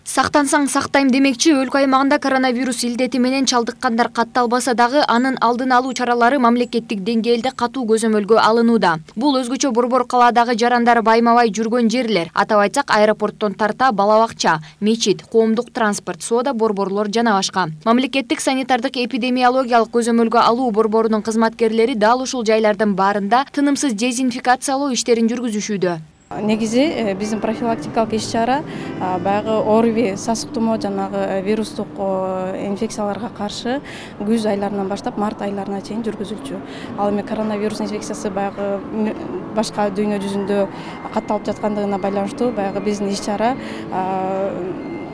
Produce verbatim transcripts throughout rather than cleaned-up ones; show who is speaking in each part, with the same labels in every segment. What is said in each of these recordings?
Speaker 1: Сактансаң сактайм демекчи, өлкө аймагында коронавирус илдети менен чалдыккандар катталбаса дагы, анын алдын алуу чаралары мамлекеттик деңгээлде катуу көзөмөлгө алынууда. Бул өзгөчө Борбор калаадагы жарандар байма-бай жүргөн жерлер. Атап айтсак, аэропорттон тарта бала бакча, мечит, коомдук транспорт, соода борборлор жана башка. Мамлекеттик санитардык эпидемиологиялык көзөмөлгө алуу борборунун кызматкерлери дал ушул жайлардын баарында тынымсыз дезинфекциялоо иштерин жүргүзүшүүдө.
Speaker 2: Негизи биздин профилактикалык иш-чара баягы ОРВИ, сасык тумоо жанагы вирустук инфекцияларга каршы күз айларынан баштап март айларына чейин жүргүзүлчү. Ал эми коронавирус инфекциясы баягы башка дүйнө жүзүндө катталып жаткандыгына байланыштуу баягы биздин иш-чара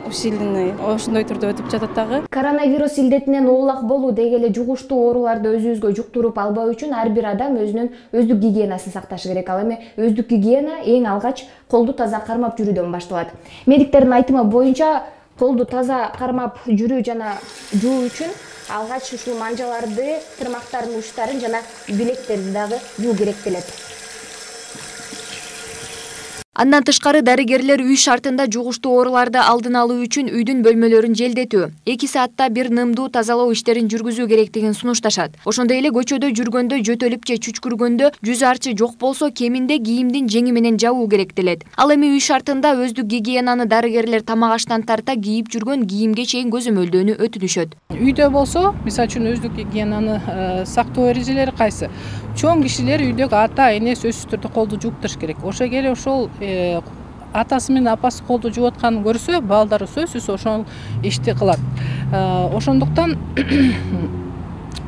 Speaker 2: усиленный ошондой түрдө өтүп жатат дагы.
Speaker 1: Коронавирус илдетинен оолак болуу деги эле жугуштуу ооруларды өзүбүзгө жуктуруп албоо үчүн ар бир адам өзүнүн өздүк гигиенасын сакташы керек. Ал эми өздүк гигиена эң алгач колду таза кармап жүрүүдөн башталат. Медиктердин айтымы боюнча, колду таза кармап жүрүү жана жуу үчүн алгач ушул манжаларды, тырмактардын учтарын жана билектерди дагы жуу керектелет. Андан тышкары дарыгерлер үй шартында жугуштуу ооруларды алдын алуу үчүн үйдүн бөлмөлөрүн желдетүү, эки саатта бир нымдуу тазалоо иштерин жүргүзүү керектигин сунушташат. Ошондой эле көчөдө жүргөндө, жөтөлүп же чүчкүргөндө жүз арчы жок болсо, кеминде кийимдин жеңи менен жабуу керектелет. Ал эми үй шартында өздүк гигиенаны дарыгерлер тамак аштан тарта кийип жүргөн кийимге чейин көзөмөлдөөнү өтүнүшөт.
Speaker 3: Үйдө болсо, мисалы үчүн өздүк гигиенаны сактоо эрежелери кайсы? Чоң кишилер үйдөгү ата, эне сөзсүз түрдө колду жууптуруш керек. Ошо келе ошол атасы менен апасы колду жууп атканын көрсө, балдары сөзсүз ошол ишти кылат. Ошондуктан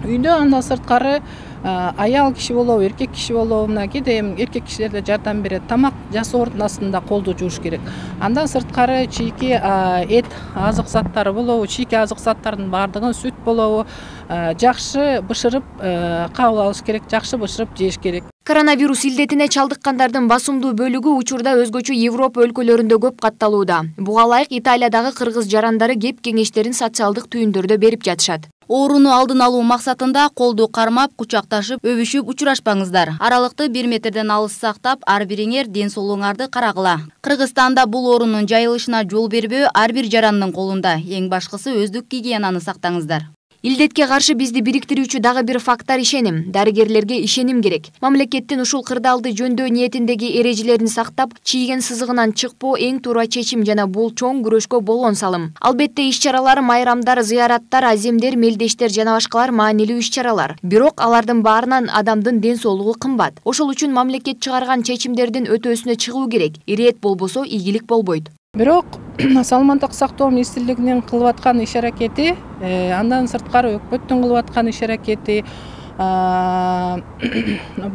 Speaker 3: үйдө андан сырткары аял киши болобу, эркек киши болобу, мына кээде эркек кишилер да жардам берет. Тамак жасоо ордунасында колду жууш керек. Андан сырткары чийки эт азык заттары болобу, чийки азык заттардын баардыгын, сүт болобу, жакшы бышырып кабыл алыш керек, жакшы бышырып жеш керек.
Speaker 1: Коронавирус илдетине чалдыккандардын басымдуу бөлүгү учурда өзгөчө Европа өлкөлөрүндө көп катталууда. Буга ылайык Италиядагы кыргыз жарандары кеп кеңештерин социалдык түйүндөрдө берип жатышат.
Speaker 4: Ооруну алдын алуу максатында колду кармап, кучакташып, өбүшүп учурашпаңыздар. Аралыкты бир метрден алыс сактап, ар бириңер ден соолугуңарды карагыла. Кыргызстанда бул оорунун жайылышына жол бербөө ар бир жарандын колунда. Эң башкысы өздүк гигиенаны сактаңыздар.
Speaker 1: Илдетке каршы бизди бириктирүүчү дагы бир фактор ишеним. Дарыгерлерге ишеним керек. Мамлекеттин ушул кырдаалды жөндөө ниетиндеги эрежелерин сактап, чийген сызыгынан чыкпоо эң туура чечим жана бул чоң күрөшкө болгон салым. Албетте иш-чаралар, майрамдар, зыяраттар, аземдер, мелдештер жана башкалар маанилүү иш-чаралар. Бирок алардын баарынан адамдын ден соолугу кымбат. Ошол үчүн мамлекет чыгарган чечимдердин өтөөсүнө чыгуу керек. Ирэет болбосо ийгилик болбойт.
Speaker 3: Бирок Саламаттык сактоо министрлигинин кылып аткан иш-аракети, андан сырткары өкмөттүн кылып аткан иш-аракети,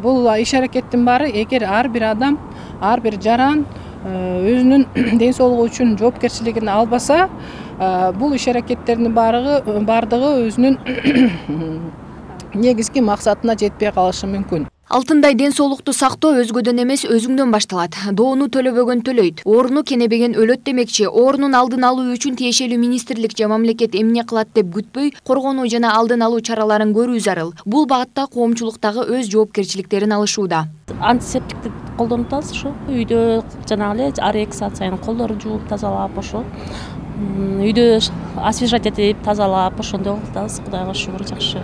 Speaker 3: бул иш-аракеттин баары эгер ар бир адам, ар бир жаран өзүнүн ден соолугу үчүн жоопкерчилигин албаса, бул иш-аракеттердин баардыгы өзүнүн негизги максатына жетпей калышы мүмкүн.
Speaker 1: Алтындай ден соолукту сактоо өзгөдөн эмес, өзүңдөн башталат. Доону төлөбөгөн төлөйт, ооруну кенебеген өлөт демекчи. Оорунун алдын алуу үчүн тиешелүү министрлик же мамлекет эмне кылат деп күтпөй, коргонуу жана алдын алуу чараларын көрүү зарыл. Бул багытта коомчулуктагы өз жоопкерчиликтерин алышууда.
Speaker 5: Антисептикти колдонуп атабыз ошо. Үйдө жанагы эле ар эки саат сайын колдорду жууп тазалап, ошо үйдө освежать этип тазалап, ошондой кылып атабыз. Кудайга шүгүр, жакшы.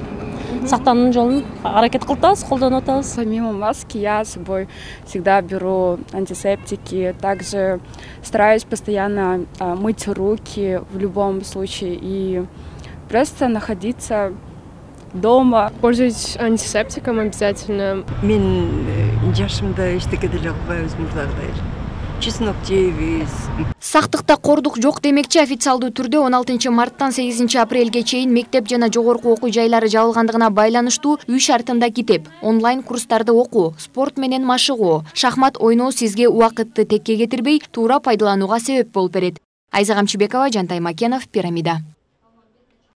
Speaker 5: Сактануунун жолун аракет кылып атабыз, колдонуп атабыз.
Speaker 6: Помимо маски я с собой всегда беру антисептики, также стараюсь постоянно мыть руки в любом случае и просто находиться дома.
Speaker 7: Пользуюсь антисептиком обязательно.
Speaker 8: Мен жашымда эчтеке деле кылбай өзүмдөгүдөй. Чеснок жейбиз.
Speaker 1: Сактыкта кордук жок демекчи, официалдуу түрдө он алтынчы марттан сегизинчи апрелге чейин мектеп жана жогорку окуу жайлары жабылгандыгына байланыштуу үй шартында китеп, онлайн курстарды окуу, спорт менен машыгуу, шахмат ойноо сизге убакытты текке кетирбей, туура пайдаланууга себеп болуп берет. Айза Камчыбекова, Жантай Макенов, Пирамида.